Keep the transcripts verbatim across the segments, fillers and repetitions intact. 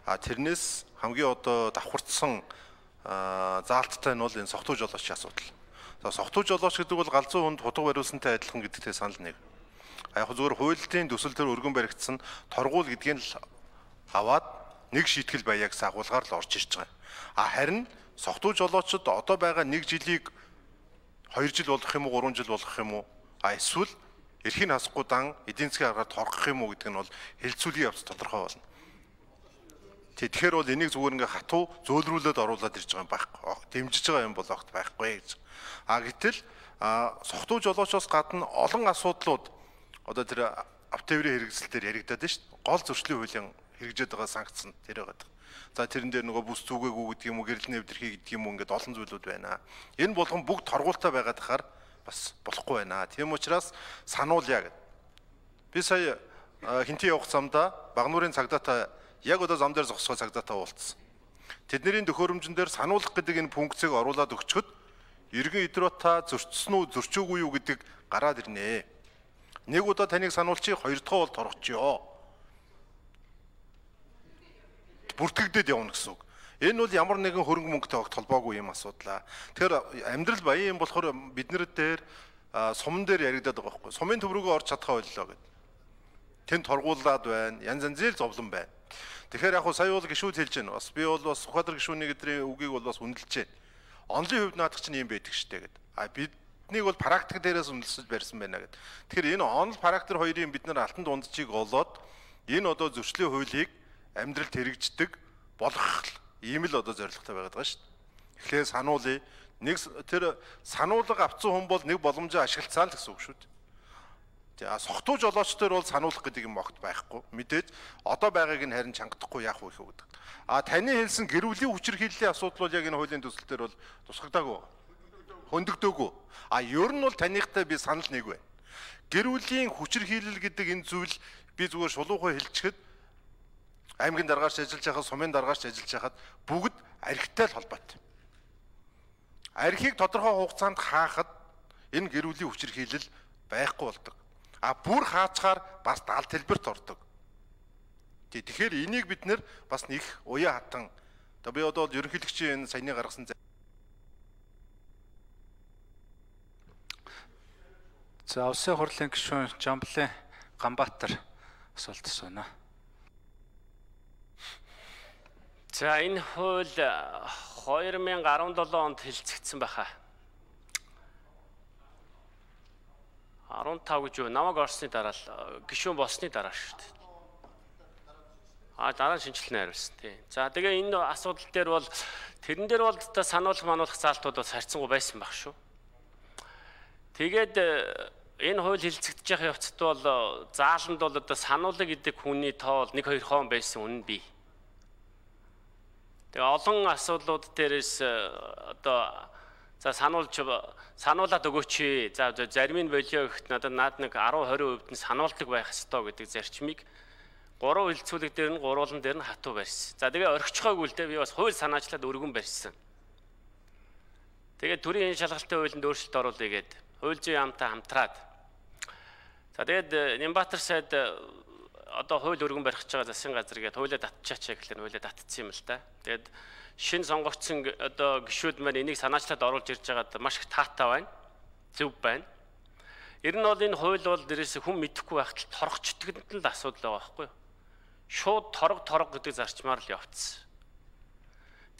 А тэрнээс хамгийн одоо давхарцсан заалттай нь бол энэ согтуу жолоочийн асуудал. За согтуу жолооч гэдэг бол галзуу хүнд хутга бариулсантай адилхан гэдэгтэй санал нэг. А яг зөвхөн хуулийн төсөл төр өргөн баригдсан торгуул гэдгийг л аваад нэг шийтгэл баяа гэсэн агуулгаар л орж ирж байгаа. А харин согтуу жолоочд одоо байгаа нэг жилийг хоёр жил болох юм уу, гурван жил болох юм уу? А эсвэл эрхийн хасахгүй дан эдийн засгийн аргаар торгох юм уу гэдэг нь бол хэлцүүлийн явц тодорхой болно. Тэгэхээр бол энийг зүгээр ингээ хатуу зөөлрүүлээд оруулаад ирж байгаа юм байхгүй. Дэмжиж байгаа юм бол огт байхгүй гэж. А гэтэл согтуу жолоочоос гадна олон асуудлууд одоо тэр автоврын хэрэгсэл дээр яригдаад байна шүү дээ. Гол зөрчлийн хуулийн хэрэгжээд байгаа санкц нь тэр байгаа. За тэрэн дээр нөгөө бүс зүгээгүй гэдэг юм уу, гэрэл нэвтрхий гэдэг юм уу ингээд олон зүйлүүд байна. Энэ болгон бүгд торгуултай байгаад хахаар бас болохгүй байна. Тийм учраас сануулъя гэд. Би сая хинтээ явах замдаа Багнуурын цагдаатай яг одоо зам дээр зогсгоо цагдаатай уулзсан. Тэдний төхөөрөмжн дээр сануулах гэдэг энэ функцийг оруулаад өгчөхөд иргэн идрота зөрчсөн үү, зөрчөөгүй юу гэдэг гараад ирнэ. Нэг удаа таныг сануулчих, хоёр дахь бол торгочихё. Бүртгэгдээд явна гэсэн үг. Энэ бол ямар нэгэн хөрөнгө мөнгөтэй огт холбоогүй юм асуудлаа. Тэгэхээр амьдрал баян юм болохоор бид нар дээр суман дээр яригадаад байгаа байхгүй. Сумын төв рүүгээ орж чадхаа боллоо гэд. Тэнд торгуулаад байна. Янз янзын зовлон байна. Тэгэхээр яг хуу сая бол гişүүд хэлж байна. Бас би бол бас Сүхбаатар гişүүний гэдрийн үгийг бол бас үнэлж байна. Онлын хувьд наадах чинь юм байдаг штэ гэд. А биднийг бол практик дээрээс үнэлсэж барьсан байна гэд. Тэгэхээр энэ онл практик хоёрын бид нар алтан дунджийг олоод энэ одоо зөрчлийн хуулийг амьдралд хэрэгждэг болгох ийм л одоо зорилготой байгаад байгаа шүү дээ. Тэгэхээр сануулъя. Нэг тэр сануулга авцсан хүн бол нэг боломжоо ашиглацаа л гэсэн үг шүү дээ. За согтуу жолоочдоор бол сануулах гэдэг юм огт байхгүй. Мэдээж одоо байгааг нь харин чангадахгүй яах вэ гэдэг. А таны хэлсэн гэр бүлийн хүчирхийллийн асуудал бол яг энэ хуулийн төсөлтөөр бол тусгагдаагүй. Хөндөгдөөгүй. А ер нь бол таныхтай би санал нэг байна. Гэр бүлийн хүчирхийлэл гэдэг энэ зүйл би зүгээр шулуухай хэлчихэд аймгийн даргаарч ажиллаж байхад, сумын даргаарч ажиллаж байхад бүгд архитай л холбоотой. Архийг тодорхой хугацаанд хаахад энэ гэр бүлийн хүчирхийлэл байхгүй болдог. А бүр хаачаар бас даал хэлбэрт ордог. Тэгэхээр энийг бид нэр бас нэг уян хатан. Одоо би одоо ерөнхийлөгчийн энэ саяны гаргасан За улсын хурлын гишүүн Жамблын Ганбаатар асуулт асууна. За энэ хууль хоёр мянга арван долоо онд хэлцэгдсэн байхаа. арван тав гэж юу? Намайг орсны дараа л гишүүн болсны дараа шүү дээ. А дараа нь шинжилнэ хариулсан тий. За тэгээ энэ асуудал дээр бол тэрэн дээр бол сануулах мануулах заалтууд бас харьцангуй байсан баг шүү. Тэгээд энэ хууль хэлцэгдэж явах явцад бол зааланд бол одоо сануулга гэдэг хүний тоо бол нэг хоёр хон байсан үнэн бий. Тэгээ олон асуудлууд дээрээс одоо за сануулж сануулаад өгөөч. За зарим нь болио гэхэд надад наад нэг арав хорин хувьд нь сануулдаг байх ёстой гэдэг зарчмыг гурван хилцүүлэг дээр нь гурвуулан дээр нь хатуу барьсан. За тэгээ орхичхойг үлдээ би бас хууль санаачлаад өргөн барьсан. Тэгээд төрийн шалгалтын хуулинд өөрчлөлт оруулъя гэд хууль зүйн яамтай хамтраад. За тэгээд Нямбатар сайд одоо хууль өргөн барих гэж байгаа засгийн газар гээд хуулиа татчихаач гэхлээр хуулиа татцсан юм л та. Тэгээд шин сонгогдсон одоо гишүүд маань энийг санаачлаад оруулж ирж байгаад маш их таатай байна. Зөв байна. Ер нь бол энэ хууль бол дээрээс хүн мэдэхгүй байхад л торгочдгонд л асуудал байгаа байхгүй юу? Шууд торог торог гэдэг зарчмаар л явцсан.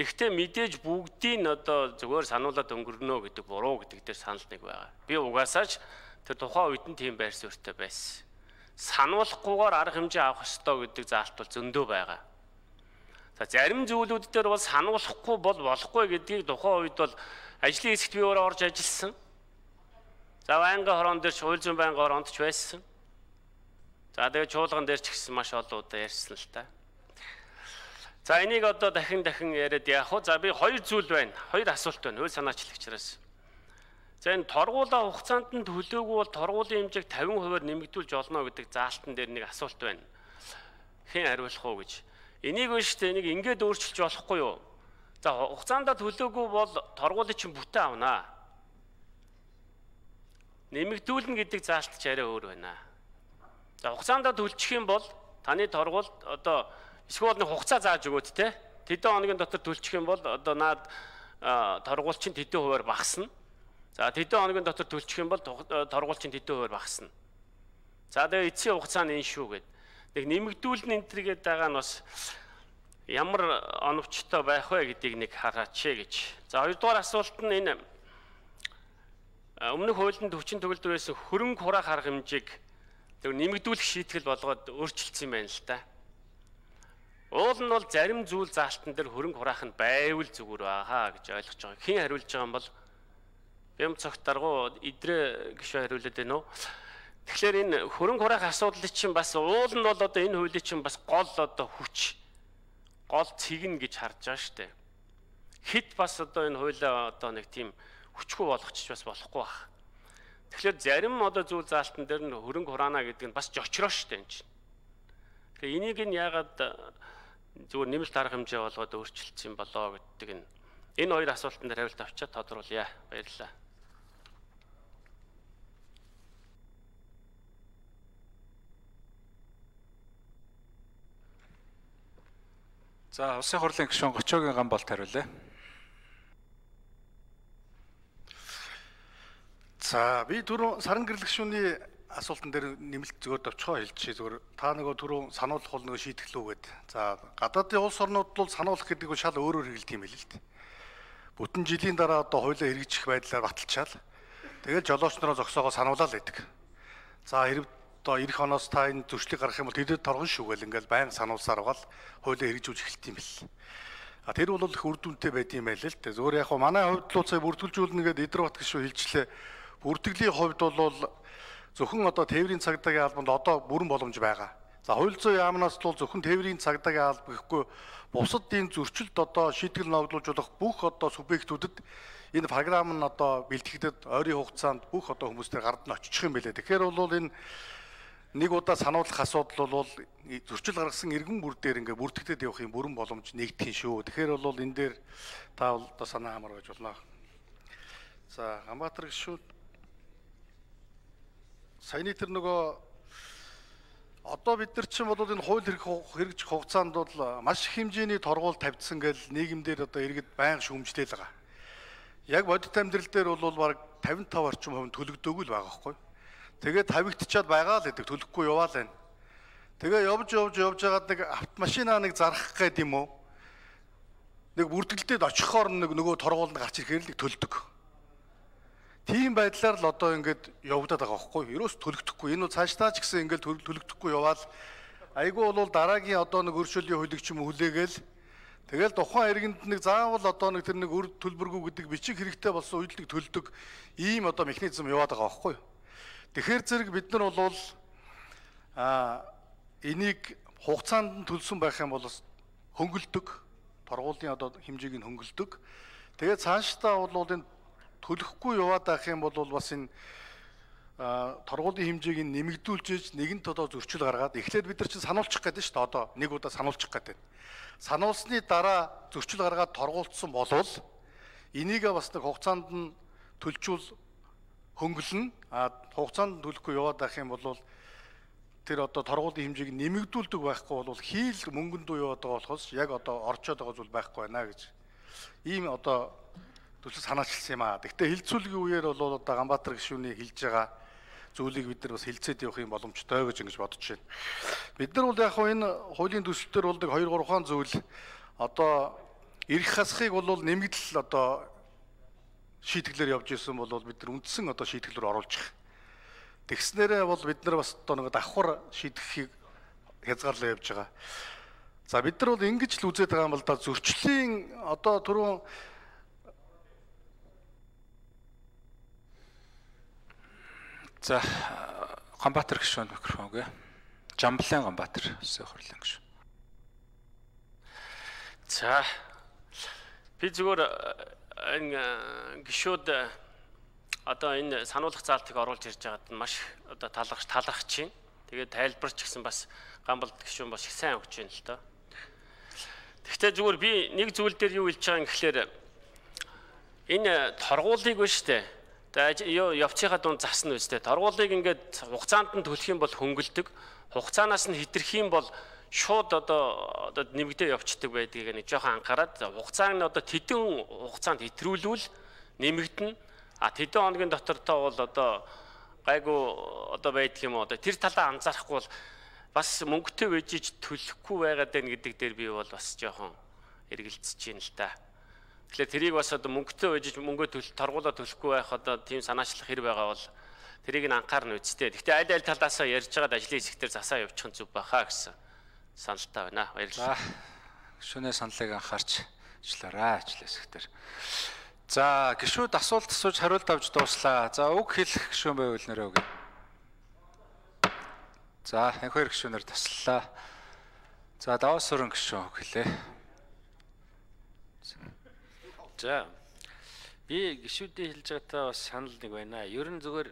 Тэгэхдээ мэдээж бүгдийг нь одоо зүгээр сануулаад өнгөрнө гэдэг буруу гэдэг дээр санал нэг байгаа. Би угаасаач тэр тухайн үед нь тийм байр суурьтай байсан. Сануулахгүйгээр арга хэмжээ авах ёстой гэдэг заалт бол зөндөө байгаа. За зарим зүйлүүд дээр бол сануулахгүй бол болохгүй гэдгийг тухайн үед бол ажлын хэсэгт би өөрөө орж ажилласан. За байнгын хорон дээр хууль зүйн байнгын хоронд ч байсан. За тэгээ чуулган дээр ч гэсэн маш олон удаа ярьсан л та. За энийг одоо дахин дахин яриад яах вэ? За би хоёр зүйл байна. Хоёр асуулт байна. Хууль санаачлагчраас. За энэ торгуула хугацаанд нь төлөөгүй бол торгуулийн хэмжээг тавин хувиар нэмэгдүүлж олно гэдэг заалтан дээр нэг асуулт байна. Хэн хариулах уу гэж. Энийг нь шүү дээ энийг ингээд өөрчилж болохгүй юу? За хугацаанд төлөөгүй бол торгуулийг чинь бүтэн авнаа. Нэмэгдүүлнэ гэдэг заалт ч арай өөр байна. За хугацаанд төлчих юм бол таны торгуул одоо Эсвэл нэг хугацаа зааж өгөөд те. Тэдэн хоногийн дотор төлчих юм бол одоо наад торгуулчин тэдэн хувиар багасна. За тэдэн хоногийн дотор төлчих юм бол торгуулчин тэдэн хувиар багасна. За тэгээ эцсийн хугацаа нь энэ шүү гэд. Нэг нэмэгдүүлэн энэ төргээд байгаа нь бас ямар оновчтой байх вэ гэдгийг нэг хараач гэж. За хоёрдугаар асуулт нь энэ өмнөх хуулинд хүчин төгөлдөр байсан хөрөнгө хураах арга хэмжээг нэмэгдүүлэх шийтгэл болгоод өөрчилсөн юм байна л да. Уул нь бол зарим зүйл заалтан дээр хөрөнгө хураах нь байвал зүгээр баахаа гэж ойлгож байгаа. Хэн хариулж байгаа юм бол Бям цогт даргу идрээ гişүү хариулдаг байна уу? Тэгэхээр энэ хөрөнгө хураах асуудлыг чинь бас уул нь бол одоо энэ хуулийн чинь бас гол одоо хүч гол цэгнэ гэж харж байгаа шүү дээ. Хэд бас одоо энэ хуулиа одоо нэг тийм хүчгүй болгочих бас болохгүй баг. Тэгэхээр зарим одоо зүйл заалтан дээр нь хөрөнгө хураана гэдэг нь бас жочроо шүү дээ энэ чинь. Тэгэхээр энийг нь яагаад зүгээр нэмэлт арга хэмжээ болгоод өөрчилсөн болоо гэдэг нь энэ хоёр асуултанд хариулт авчаад тодруулъя. Баярлалаа. За улсын хурлын гишүүн Гочоогийн Гамболт хариулъя. За би түрүү саран гэрэл гишүүний асуултан дээр нэмэлт зөвөр товчхоо хэлчихье зөвөр та нөгөө түрүү сануулгах бол нөгөө шийтгэлүүгээд за гадаадын улс орнууд бол сануулгах гэдэг нь шал өөрөөр хэлдэг юм байл л дээ. Бүтэн жилийн дараа одоо хуулиа хэрэгжих байдлаар баталчаал тэгэл жолоочнороо зогсоогоо сануулаад байдаг. За хэрэг одоо эх оноос та энэ зөрчлийг гаргах юм бол тэдэд торгон шүүгээл ингээл байнга сануулсаар байгаа л хуулиа хэрэгжүүлж эхэлт юм бэл. А тэр бол их үр дүнтэй байд юм байл л дээ. Зөвөр яг манай хувьд л сая бүртгүүлжүүлнэ гэдэг Идрбат гишүү хэлчлээ. Бүртгэлийн хувьд бол зөвхөн одоо тээврийн цагдаагийн албанд одоо бүрэн боломж байгаа. За хууль зүйн яамнаас бол зөвхөн тээврийн цагдаагийн алба гэхгүй бусад энэ зөрчилд одоо шийтгэл ногдуулж болох бүх одоо субъектүүдэд энэ програм нь одоо бэлтгэгдэд ойрын хугацаанд бүх одоо хүмүүстээр гард нь очих юм байлээ. Тэгэхээр бол энэ нэг удаа сануулгах асуудал бол зөрчил гаргасан иргэн бүр дээр ингээ бүртгэдэд явах юм бүрэн боломж нэгдэх юм шүү. Тэгэхээр бол энэ дээр та бол одоо санаа хамаар байж болно. За Ганбаатар гишүүд саяны тэр нөгөө одоо бид нар чинь бол энэ хууль хэрэгжих хугацаанд бол маш их хэмжээний торгуул тавьдсан гэл нийгэмдэр одоо иргэд байнга шүүмжлэл байгаа. Яг бодит амьдрал дээр бол баг тавин тав орчим хувь төлөгдөөгүй л байгаа байхгүй. Тэгээд тавигдчихад байгаа л гэдэг төлөхгүй яваал байна. Тэгээ явж явж явж байгаад нэг автомашинаа нэг зарах гээд юм уу? Нэг бүртгэлдээд очихоор нэг нөгөө торгуулнд гарч ирэхээр л нэг төлдөг. Тийм байдлаар л одоо ингээд явагдаад байгаа байхгүй юу? Ерөөс төлөгдөхгүй. Энэ бол цаашдаа ч гэсэн ингээд төлөгдөхгүй яваал айгүй бол дараагийн одоо нэг өршөөлийн хуулийг ч юм хүлээгээл тэгэл тухайн иргэнд нэг заавал одоо нэг тэр нэг өр төлбөргүй гэдэг бичиг хэрэгтэй болсон үед л төлдөг ийм одоо механизм яваад байгаа байхгүй юу? Тэгэхээр зэрэг бид нар бол а энийг хугацаанд нь төлсөн байх юм бол хөнгөлдөг торгуулийн одоо хэмжээг нь хөнгөлдөг. Тэгээд цаашдаа бол энэ төлөхгүй яваад байх юм бол бас энэ торгуулийн хэмжээг нь нэмэгдүүлж нэгэнт одоо зөрчил гаргаад эхлээд бид нар чинь сануулчих гэдэг шүү дээ. Одоо нэг удаа сануулчих гэдэг. Сануулсны дараа зөрчил гаргаад торгуулсан болвол энийгээ бас нэг хугацаанд нь төлжүүл хөнгөлнө. А хугацаанд төлөхгүй яваад байх юм бол тэр одоо торгуулийн хэмжээг нэмэгдүүлдэг байхгүй бол хийл мөнгөнд дуу яваад байгаа болохоос яг одоо орчоод байгаа зүйл байхгүй байна гэж ийм одоо төсөл санаачилсан юм аа. Гэхдээ хилцүүлгийн үеэр бол одоо Ганбаатар гишүүний хэлж байгаа зүйлийг бид нар бас хилцээд явах юм боломжтой гэж ингэж бодож байна. Бид нар бол яг хөө энэ хуулийн төсөлтөр болдог хоёр гурван зүйл одоо эрх хасхыг бол нэмэгдэл одоо шийтгэлээр явж исэн бол бид нар үндсэн одоо шийтгэлээр оруулж байгаа. Тэгснээрээ бол бид нар бас одоо нэг давхар шийдэхийг хязгаарлаа явж байгаа. За бид нар бол ингэж л үзээд байгаа юм бол да зөрчлийн одоо түрүүн За Ганбаатар гишүүн микрофон гээ. Жамблын Ганбаатар улсын хурлын гишүүн. За би зүгээр энэ гишүүд одоо энэ сануулгах заалтыг оруулж ирж байгаад маш одоо талархаж талархаж байна. Тэгээд тайлбарч гисэн бас Ганболт гишүүн бас их сайн өгч байна л доо. Гэхдээ зүгээр би нэг зүйл дээр юу хэлж байгаа юм гэхлээр энэ торгуулийг ба штэ. Тэгээд явцынхаа дунд засна үстэй. Торгуулийг ингээд хугацаанд нь төлөх юм бол хөнгөлдөг. Хугацаанаас нь хитрэх юм бол шууд одоо одоо нэмэгдээ явцдаг байдгийг нэг жоохон анхаарад хугацааг нь одоо тэдэн хугацаанд хэтрүүлвэл нэмэгдэнэ. А тэдэн хоногийн дотор тоо бол одоо гайгүй одоо байдаг юм одоо тэр талаа анзаарахгүй бол бас мөнгөтэй вэжиж төлөхгүй байгаад байна гэдэг дээр би бол бас жоохон эргэлзэж байна л да. Тэгэхээр тэрийг бас одоо мөнгөтэй вэжиж мөнгөө төлөх торгуулаа төлөхгүй байх одоо тийм санаачлах хэрэг байгаа бол тэрийг нь анхаарна үсттэй. Гэхдээ аль аль талаасаа ярьж байгаад ажлын хэсгээр засаа явуучих нь зүв баха гэсэн саналтай байна. Баярлалаа. Гишүүний саналыг анхаарч ажиллаарай ажлын хэсгээр. За гишүүд асуулт асууж хариулт авч дууслаа. За үг хэлэх гишүүн байвал нэрээ өгье. За энэ хоёр гишүүнээр таслалаа. За даваас өрн гишүүн үг хэлээ. За би гишүүдийн хэлж байгаатай бас санал нэг байна. Ер нь зүгээр